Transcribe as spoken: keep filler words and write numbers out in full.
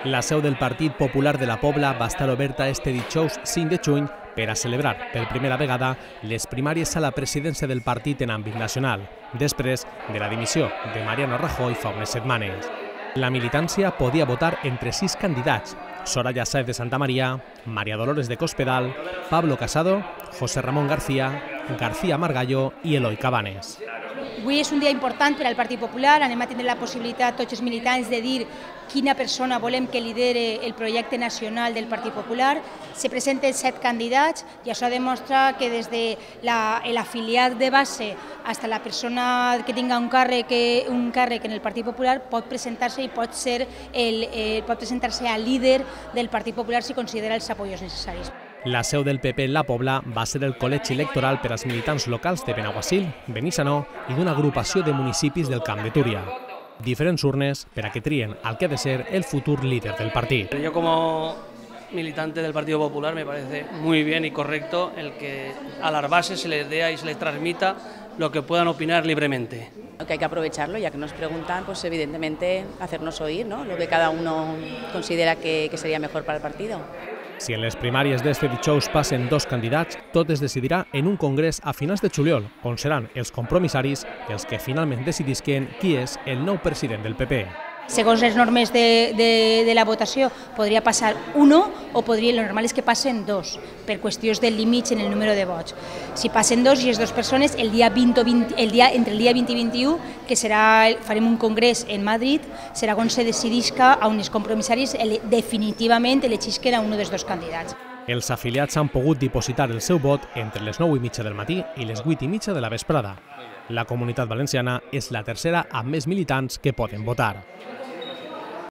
La seu del Partit Popular de la Pobla va estar oberta este dijous cinc de juny per a celebrar per primera vegada les primàries a la presidència del partit en àmbit nacional, després de la dimissió de Mariano Rajoy fa unes setmanes. La militància podia votar entre sis candidats: Soraya Sáez de Santamaría, María Dolores de Cospedal, Pablo Casado, José Ramón García, García Margallo i Eloi Cabanes. Avui és un dia important per al Partit Popular, anem a tindre la possibilitat tots els militants de dir quina persona volem que lidere el projecte nacional del Partit Popular. Se presenten set candidats i això demostra que des de l'afiliat de base fins a la persona que tinga un càrrec, un càrrec en el Partit Popular pot presentar-se i pot ser el, eh, pot presentar-se a líder del Partit Popular si considera els apoyos necessaris. La seu del P P en la Pobla va ser el col·legi electoral per als militants locals de Benaguasil, Benissanó i d'una agrupació de municipis del Camp de Túria. Diferents urnes per a que trien el que ha de ser el futur líder del partit. Yo como militante del Partido Popular me parece muy bien y correcto el que a las bases se les dé y se les transmita lo que puedan opinar libremente. Que hay que aprovecharlo, ya que nos preguntan, pues evidentemente hacernos oír, ¿no?, lo que cada uno considera que, que sería mejor para el partido. Si en les primàries d'este dijous passen dos candidats, tot es decidirà en un congrés a finals de juliol, on seran els compromissaris els que finalment decidisquen qui és el nou president del P P. Segons les normes de, de, de la votació, podria passar uno o podria, lo normal és que passen dos, per qüestions del límit en el número de vots. Si passen dos i les dues persones, el dia vint o vint, el dia, entre el dia vint i vint-i-u, que serà, farem un congrés en Madrid, serà on se decidisca a uns compromissaris definitivament elegisquen a un dels dos candidats. Els afiliats han pogut dipositar el seu vot entre les nou i mitja del matí i les vuit i mitja de la vesprada. La Comunitat Valenciana és la tercera amb més militants que poden votar.